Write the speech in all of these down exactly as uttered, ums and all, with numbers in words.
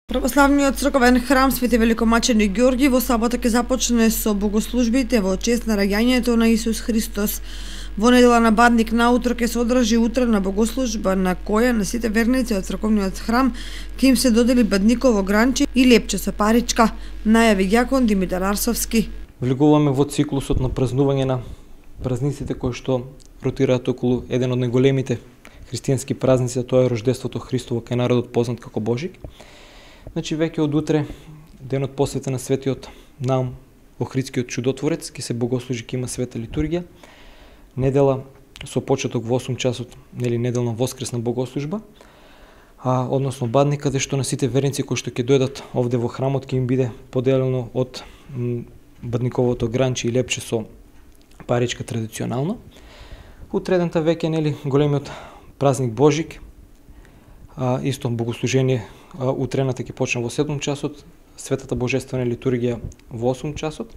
Православниот црковен храм Свети Великомаченик Ѓорги во сабота ќе започне со богослужбите во чест на раѓањето на Исус Христос. Во недела на Бадник наутро ќе се одржи утрена богослужба на која на сите верници од црковниот храм ќе им се додели бадниково гранче и лепче со паричка, најави ѓакон Димитар Арсовски. Влегуваме во циклусот на празнување на празниците кои што ротираат околу еден од најголемите христијански празници, а тоа е Рождеството Христово кај народот познат како Божик. Значи веќе од утре, денот посветен на светиот Наум Охридскиот чудотворец, ќе се богослужи, ќе има света литургија. Недела со почеток во осум часот, нели неделна воскресна богослужба, а односно Бадник, каде што на сите верници кои што ќе дојдат овде во храмот ќе им биде поделено од бадниковото гранче и лепче со паричка традиционално. Утредента веќе нели големиот празник Божик, а, исто богослужение а, утрената ќе почне во седум часот, светата божествена литургија во осум часот.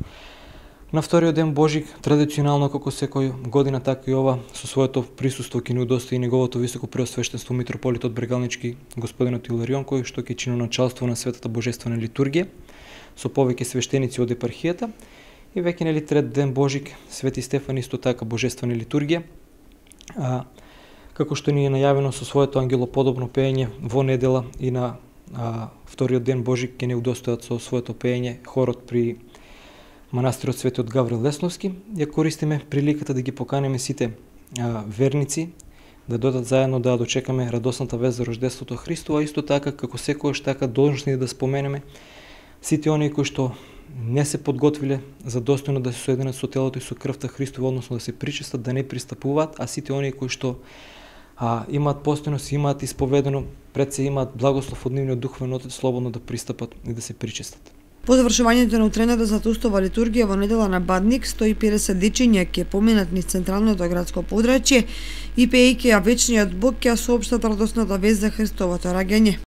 На вториот ден Божик, традиционално како секој година, така и ова, со своето присуство ќе ни удостои неговото високо преосвештенство митрополитот Брегалнички господинот Иларион, кој што ќе чини началство на светата божествена литургија со повеќе свештеници од епархијата. И веќе нели трет ден Божик, Свети Стефан исто така божествена литургија. А, како што ни е најавено со своето ангелоподобно пеење во недела и на а, вториот ден Божик ќе не удостојат со своето пеење хорот при манастирот Светиот Гаврил Лесновски. Ја користиме приликата да ги поканеме сите а, верници да додат заедно да дочекаме радосната вест за Рождеството Христово, а исто така како секојаш така должни да споменеме сите оние кои што не се подготвиле за достојно да се соединат со телото и со крвта Христова, односно да се причестат, да не пристапуваат, а сите оние кои што а, имаат постојност, имаат исповедено, пред се имаат благослов од нивниот духовен отец, слободно да пристапат и да се причестат. По завршувањето на утрената затустова литургија во недела на Бадник, сто и педесет дечиња ќе поминат низ централното градско подрачје и пеејќи ја вечниот Бог ќе соопштат радосната вест за Христовото раѓање.